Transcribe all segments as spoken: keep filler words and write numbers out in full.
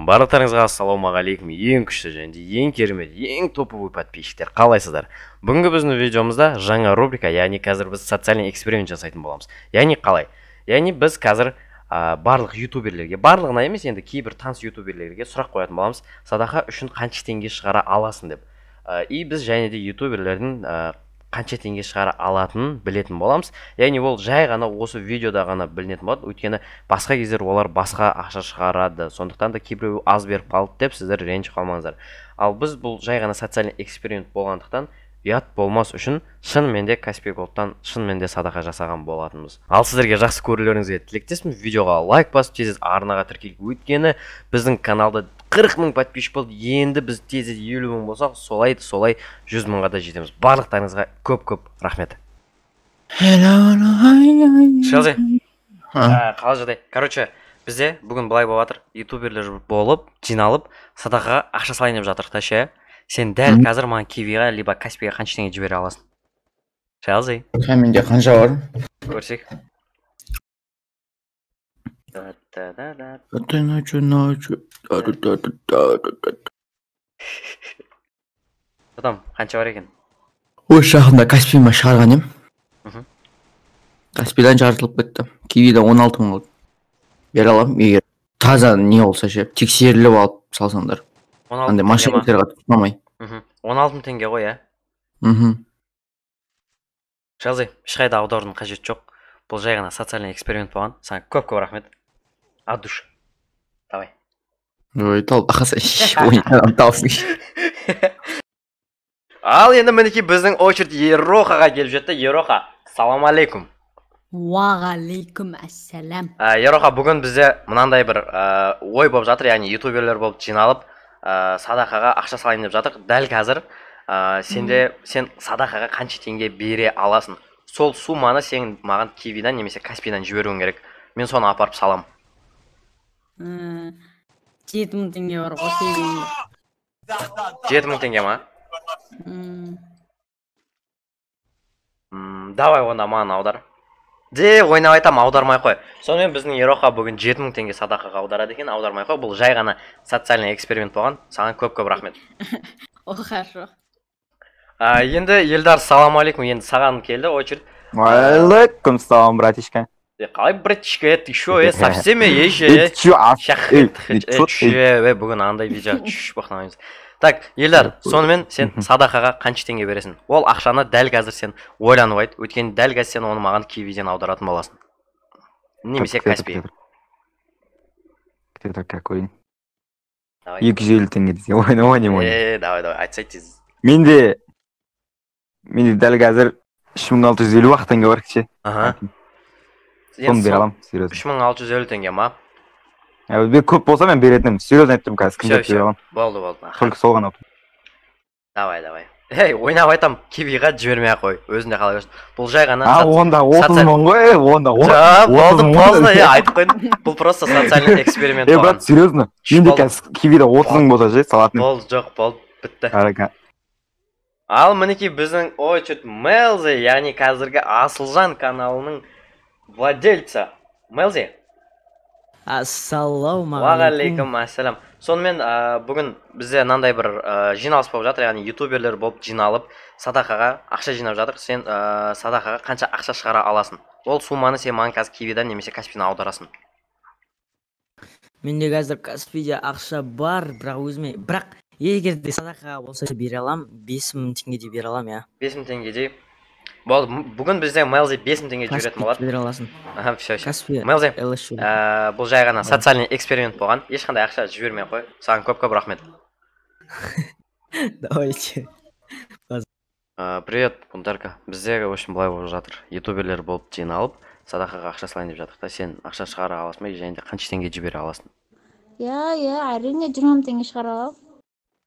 Барлықтарыңызға ассалаумағалейкум. Ең күшті және ең керемет, ең топовый подписчиктер. Қалайсыздар? Бүгінгі біздің видеомызда жаңа рубрика, яғни қазір біз социальный эксперимент жасайтын боламыз. Яғни қалай? Яғни біз қазір ә, барлық ютуберлерге, барлығына емес, енді кейбір таныс ютуберлерге сұрақ қоятын боламыз. Садақа үшін қанша теңге шығара аласың деп. Ә, и біз және де ютуберлердің ә, қанша теңге шығара алатынын білетін боламыз. Яғни ол жай ғана осы видеода ғана білінетін болады. Өйткені басқа кездер олар басқа ақша шығарады. Сондықтан да кейбіреу аз беріп қалды деп сіздер ренжіп қалмаңыздар. Ал біз бұл жай ғана социальный эксперимент болғандықтан ұят болмас үшін шынымен де Каспий Голдтан шынымен де садақа жасаған болатынбыз. Ал сіздерге жақсы көрулеріңізге тілектеспін. Видеоға лайк басып, тез арнаға тіркеліп, өйткені біздің каналда қырық мың подписчик болды. Енді біз тез елу мың болсақ, солай солай жүз мыңға да жетеміз. Барлықтарыңызға көп-көп рахмет. Шалзай. Қалай жағдай? Короче, бізде бүгін былай болып жатыр. Ютуберлер болып, жиналып, садақаға ақша салайын деп жатыр та ше. Сен дәл қазір маған Кивиға либо Каспийға қанша теңге жібере аласың? Шалзай. Менде қанша бар? Көрсек. Адам, қанша бар екен? Ой, шағында Каспийма шығарған ем. Каспийдан жарытылып кетті. Кивида он алты мың болды. Бере алам, егер таза не болса ше, тексеріліп алып салсаңдар. Андай машинктерға тұтмамай. он алты мың теңге ғой, ә? Шалзай, ешқайда аударудың қажеті жоқ. Бұл жай ғана социальный эксперимент болған. Саған көп-көп рахмет. От души. Давай. Ой, тал бақаса, ойнаған талсың. Ал енді мінеки біздің очередь Ерохаға келіп жетті. Ероха, салам алейкум. Уағалейкум ассалам. Ероха, бүгін бізде мынандай бір ой болып жатыр, яғни ютуберлер болып жиналып, садақаға ақша салайын деп жатыр. Дәл қазір сенде сен садақаға қанша теңге бере аласың? Сол сумманы сен маған Кивидан немесе Каспийдан жіберуің керек. Мен соны апарып салам. жеті мың теңге бар ғой Кивида. жеті мың теңге ма? Давай онда маған аудар. Де, ойнап айтам, аудармай қой. Сонымен біздің Ероха бүгін жеті мың теңге садақаға аударады екен, аудармай қой. Бұл жай ғана социальный эксперимент болған. Саған көп-көп рахмет. О, хорошо. Енді Елдар, салам алейкум. Енді саған келді очередь. Алейкум салам, братишка. Қалай, братишка, ты шо, е, совсем е, еше, е, бүгін андай видео, чүш, бақнамыз. Так, Елдар, сонымен сен садақаға қанша теңге бересің? Ол ақшаны дәл қазір сен ойланып айт, өйткені дәл қазір сен оны маған Кивиден аударатын боласың. Немесе Каспий. Кто какой? екі жүз елу теңге десе, ойнама не ойна. Е, давай, давай, айтсай тез. Менде менде дәл қазір үш мың алты жүз елу ақ теңге бар кеше. Аха. Соны бере алам, серьезно. үш мың алты жүз елу теңге ма? Бе көп болса мен беретінім, серьезно айттым қазір, кімдеп бере алам. Болды, болды. Только сол ғана. Давай, давай. Эй, ойнап айтам, Кивиға жібермей ақ қой, өзінде қалай көрсін. Бұл жай ғана... А, онда отыз мың ғой, онда болды, поздно, е, айтып қойдым. Бұл просто социальный эксперимент болған. Е, брат, серьезно, менде қазір Кивида отыз мың болса же, салатын. Болды, жоқ, болды, бітті. Ал мінеки біздің очередь Мелзи, яғни қазіргі Асылжан каналының владельца. Мелзи. Ассалаумағалейкум. Уағалейкум ассалам. Сонымен бүгін бізде мынандай бір жиналыс болып жатыр, яғни ютуберлер болып жиналып, садақаға ақша жинап жатыр. Сен садақаға қанша ақша шығара аласың? Ол сумманы сен маған қазір Кивидан немесе Каспийдан аударасың. Менде қазір Каспийде ақша бар, бірақ өзіме, бірақ егер де садақаға болса бере алам, бес мың теңге де бере алам, я. бес мың теңге де. Болды, бүгін бізде Мелзи бес мың теңге жіберетін болады. Каспий бере аласың. Аха, все, все. Каспий. Мелзи, бұл жай ғана социальный эксперимент болған. Ешқандай ақша жібермей қой. Саған көп-көп рахмет. Давайте. Привет, Бунтарка. Бізде очень былай болып жатыр. Ютуберлер болып жиналып, садақаға ақша салайын деп жатыр. Сен ақша шығара аласың ба, және де қанша теңге жібере аласың? Я, я, әрине жиырма мың теңге шығара алам.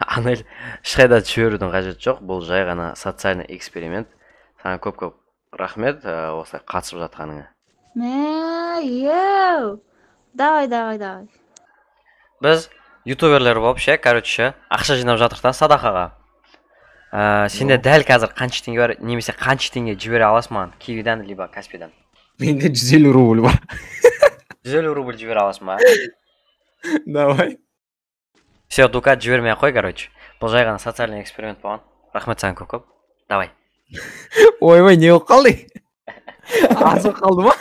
Анель, ешқайда жіберудің қажеті жоқ. Бұл жай ғана социальный эксперимент. Саған көп-көп рахмет осылай қатысып жатқаныңа. Мә, еу. Давай, давай, давай. Біз ютуберлер болып ше, короче, ақша жинап жатыр да садақаға. Сенде дәл қазір қанша теңге бар, немесе қанша теңге жібере аласың маған Кивидан либо Каспийдан? Менде жүз елу рубль бар. жүз елу рубль жібере аласың ба? Давай. Все, дукат жібермей ақ қой, короче. Бұл жай ғана социальный эксперимент болған. Рахмет саған көп көп. Давай. Ойбай, не болып қалды? Азып қалды ма?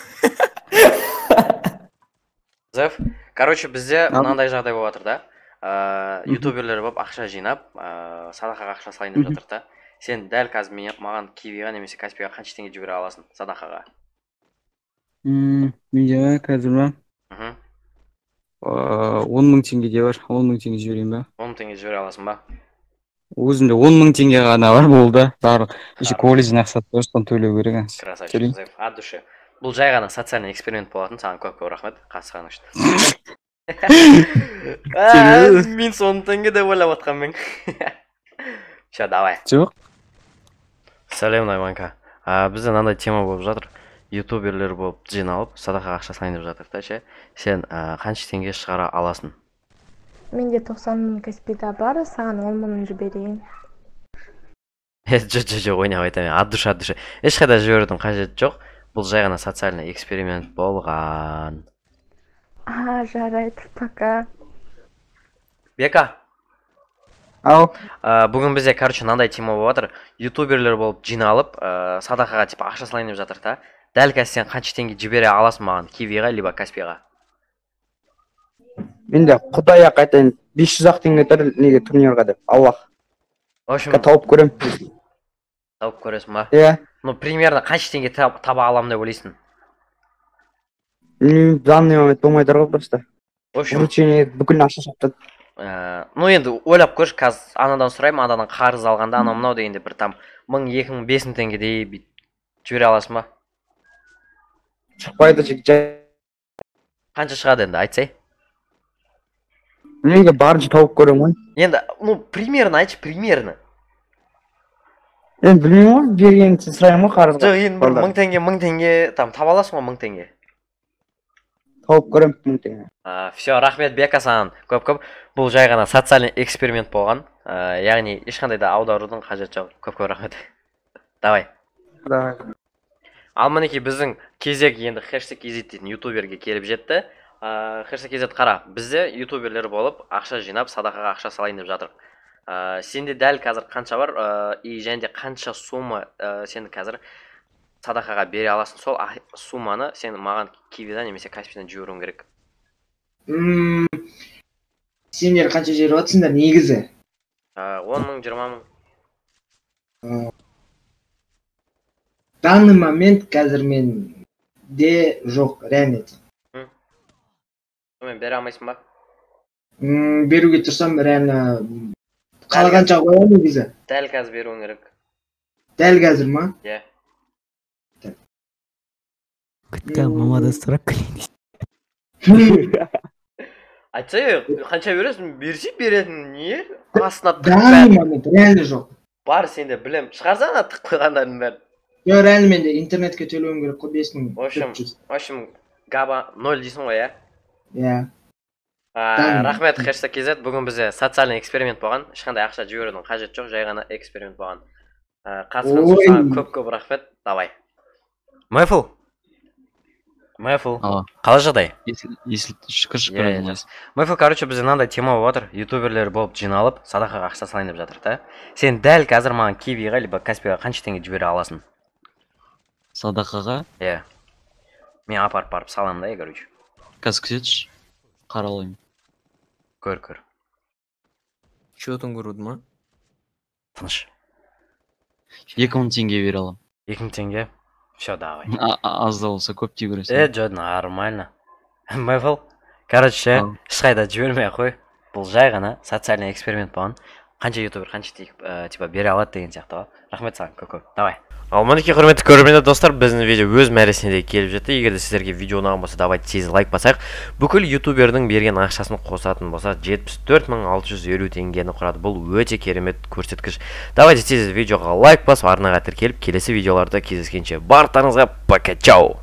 Зев, короче, бізде мынандай жағдай болып жатыр да. Ютуберлер болып ақша жинап, садақаға ақша салайын деп жатыр да. Сен дәл қазір маған Кивиға немесе Каспиға қанша теңге жібере аласың садақаға? Менде қазір ма? он мың теңге де бар. он мың теңге жіберейін ба? он мың теңге жібере аласың ба? Өзімде он мың теңге ғана бар болды. Барлық еще колледжден ақша осыдан төлеу керек. Красавчик, Зев, от души. Бұл жай ғана социальный эксперимент болатын, саған көп-көп рахмет, қатысқаның үшін. Мен он теңге деп ойлап жатқанмын. Все, давай. Жоқ. Сәлем, Найманка. Бізде мынандай тема болып жатыр. Ютуберлер болып жиналып, садақаға ақша салайын деп жатыр да, ше. Сен қанша теңге шығара аласың? Менде тоқсан мың Каспида бар, саған он мың жіберейін. Жоқ, жоқ, ойнап айтамын. От души, от души. Ешқайда жіберудің қажеті жоқ. Бұл жай ғана социальный эксперимент болған. А, жарайды, пока. Бека. Ау. Бүгін бізде, короче, мынандай тема болып жатыр. Ютуберлер болып жиналып, садақаға типа ақша салайын деп жатыр да. Дәл қазір сен қанша теңге жібере аласың маған Кивиға либо Каспиға? Менде Құдай ақ айтайын, бес жүз ақ теңге тұр неге турнирға деп. Аллах. В общем, тауып көрем. Тауып көресің ба? Иә. Ну, примерно қанша теңге таба аламын деп ойлайсың? В данный момент болмай тұр ғой просто. В общем, вручение бүкіл ақша шаптады. Ну енді ойлап көрші, қазір анадан сұраймын, анадан қарыз алғанда анау мынау дегенде бір там мың, екі мың, бес мың теңгедей жібере аласың ба? Шықпайды жай. Қанша шығады енді, айтсай? Менге барынша тауып көрем ғой. Енді, ну, примерно айтшы, примерно. Енді білмеймін ғой, бергенін сұраймын ғой қарызға. Жоқ, енді бір мың теңге, мың теңге, там таба аласың ғой мың теңге? Тауып көрем мың теңге. Все, рахмет Бека саған көп-көп. Бұл жай ғана социальный эксперимент болған. Яғни ешқандай да аударудың қажеті жоқ. Көп-көп рахмет. Давай. Давай. Ал мінекей біздің кезек енді хэштег кз дейтін ютуберге келіп жетті. Хэштег kz қара, бізде ютуберлер болып ақша жинап садақаға ақша салайын деп жатыр. Сенде дәл қазір қанша бар и және де қанша сумма сен қазір садақаға бере аласың, сол сумманы сен маған Кивидан немесе Каспидан жіберуің керек. Сендер қанша жіберіп жатсыңдар негізі? он мың, жиырма мың. Данный момент қазір менде жоқ, реально. Мен бере алмайсың ба? Беруге тұрсам, реально қалғанша қоямын негізі. Дәл қазір беруің керек. Дәл қазір ма? Иә. Күтті мамада сұрап келейін. Айтсай, қанша бересің? Берсе беретін, не? Астына Данный момент реально жоқ. Бар сенде білем. Шығарсана тық қойғандардың бәрін. Жоқ, реально менде интернетке төлеуім керек қой бес мың. В общем, габа ноль дейсің ғой, иә? Иә. Рахмет хэштег kz. Бүгін бізде социальный эксперимент болған. Ешқандай ақша жіберудің қажеті жоқ, жай ғана эксперимент болған. Қатысқан саған көп-көп рахмет. Давай. Мэйфул. Мэйфул. Қалай жағдай? Если шүкір шүкір. Мэйфул, короче, бізде мынандай тема болып жатыр. Ютуберлер болып жиналып, садақаға ақша салайын деп жатыр, да? Сен дәл қазір маған Кивиға либо Каспиға қанша теңге жібере аласың? Садақаға? Иә. Мен апарып барып саламын да, короче. Қазір күзетші. Қаралайым. Көр, көр. Счетын көруді ма? Тыныш. екі мың теңге бере алам. екі мың теңге? Все, давай. Аз да болса көп тей көресің. Э, жо, нормально. Мэйфул, короче, ешқайда жібермей қой. Бұл жай ғана социальный эксперимент болған. Қанша ютубер, қанша типа бере алады деген сияқты ғой. Рахмет саған, көп-көп. Давай. Ал мінекей құрметті көрермендер достар, біздің видео өз мәресіне де келіп жетті. Егер де сіздерге видео ұнаған болса, давайте тез лайк басайық. Бүкіл ютубердің берген ақшасын қосатын болса, жетпіс төрт мың алты жүз елу теңгені құрады. Бұл өте керемет көрсеткіш. Давайте тез видеоға лайк басып, арнаға тіркеліп, келесі видеоларда кездескенше барлықтарыңызға пока, чао.